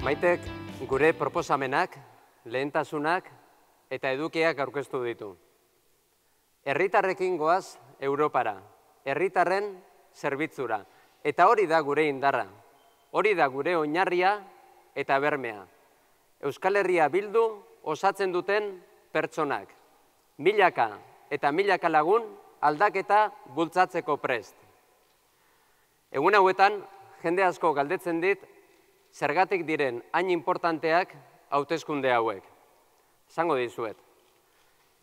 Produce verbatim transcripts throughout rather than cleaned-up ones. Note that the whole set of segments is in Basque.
Maitek gure proposamenak, lehentasunak eta edukiak aurkeztu ditu. Herritarrekin goaz Europara, herritarren zerbitzura. Eta hori da gure indarra, hori da gure oinarria eta bermea. Euskal Herria Bildu osatzen duten pertsonak, milaka eta milaka lagun aldaketa bultzatzeko prest. Egun hauetan, jende asko galdetzen dit, zergatik diren hain importanteak hauteskunde hauek. Esango dizuet.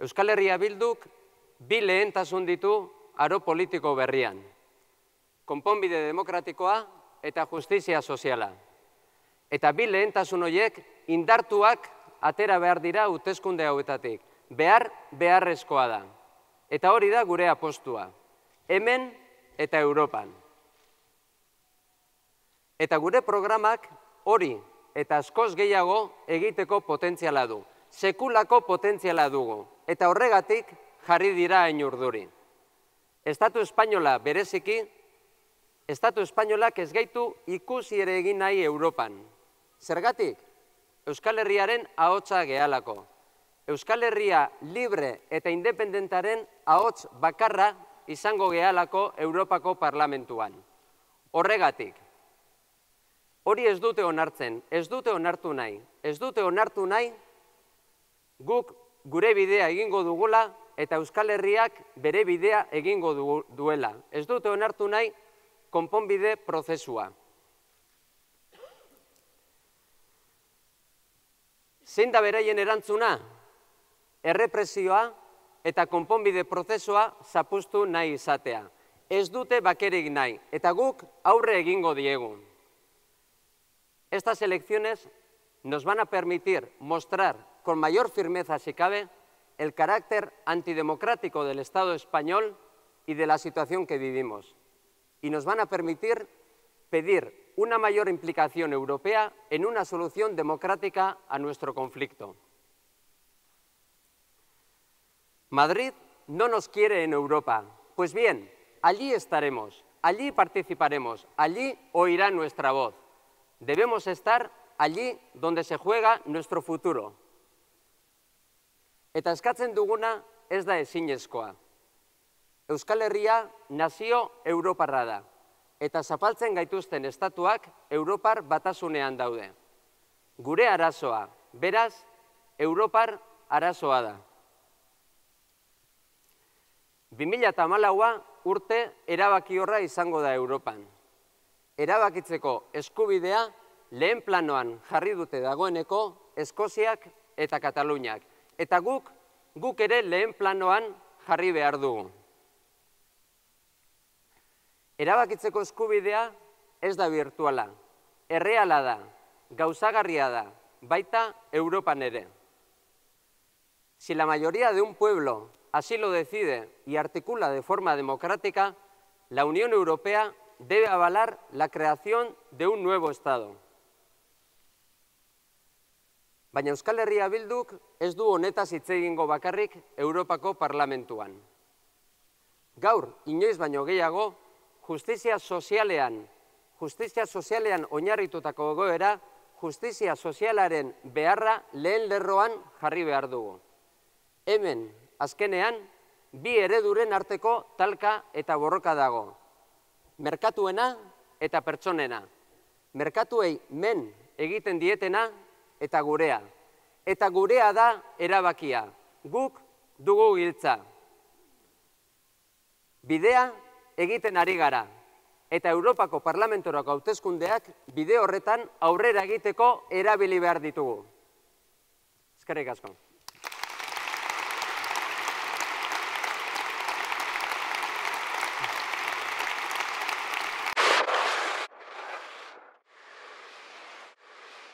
Euskal Herria Bilduk bi lehentasun ditu aro politiko berrian. Konponbide demokratikoa eta justizia soziala. Eta bi lehentasun horiek indartuak atera behar dira hauteskunde hauetatik. Behar beharrezkoa da. Eta hori da gure apostua. Hemen eta Europan. Eta gure programak hori eta askoz gehiago egiteko potentziala du. Sekulako potentziala dugu. Eta horregatik jarri dira hain urduri. Estatu espainola bereziki, Estatu espainolak ez gaitu ikusi ere egin nahi Europan. Zergatik? Euskal Herriaren ahotsa gehalako. Euskal Herria libre eta independentaren ahots bakarra izango gehalako Europako Parlamentuan. Horregatik. Hori ez dute onartzen, ez dute onartu nahi. Ez dute onartu nahi guk gure bidea egingo dugula eta Euskal Herriak bere bidea egingo duela. Ez dute onartu nahi konponbide prozesua. Zein da beraien erantzuna? Errepresioa eta konponbide prozesua zapuztu nahi izatea. Ez dute bakerik nahi eta guk aurre egingo diegu. Estas elecciones nos van a permitir mostrar con mayor firmeza, si cabe, el carácter antidemocrático del Estado español y de la situación que vivimos. Y nos van a permitir pedir una mayor implicación europea en una solución democrática a nuestro conflicto. Madrid no nos quiere en Europa. Pues bien, allí estaremos, allí participaremos, allí oirá nuestra voz. Debemos estar allí donde se juega nuestro futuro. Eta eskatzen duguna ez da ezinezkoa. Euskal Herria nazio europarra da. Eta zapaltzen gaituzten estatuak Europar batasunean daude. Gure arazoa, beraz, Europar arazoa da. bi mila hamalaua urte erabakiorra izango da Europan. Erabakitzeko eskubidea lehen planoan jarri dute dagoeneko Eskoziak eta Kataluniak. Eta guk, guk ere lehen planoan jarri behar dugu. Erabakitzeko eskubidea ez da virtuala, erreala da, gauzagarria da, baita Europan ere. Si la mayoría de un pueblo así lo decide y articula de forma democrática, la Unión Europea debe avalar la creación de un nuevo Estado. Baina Euskal Herria Bilduk ez du honetaz hitz egingo bakarrik Europako Parlamentuan. Gaur, inoiz baino gehiago, justizia sozialean, justizia sozialean oinarritutako egoera, justizia sozialaren beharra lehen lerroan jarri behar dugu. Hemen, azkenean, bi ereduren arteko talka eta borroka dago. Merkatuena eta pertsonena. Merkatuei men egiten dietena eta gurea. Eta gurea da erabakia. Guk dugu giltza. Bidea egiten ari gara. Eta Europako Parlamentorako hauteskundeak bide horretan aurrera egiteko erabili behar ditugu. Eskerrik asko.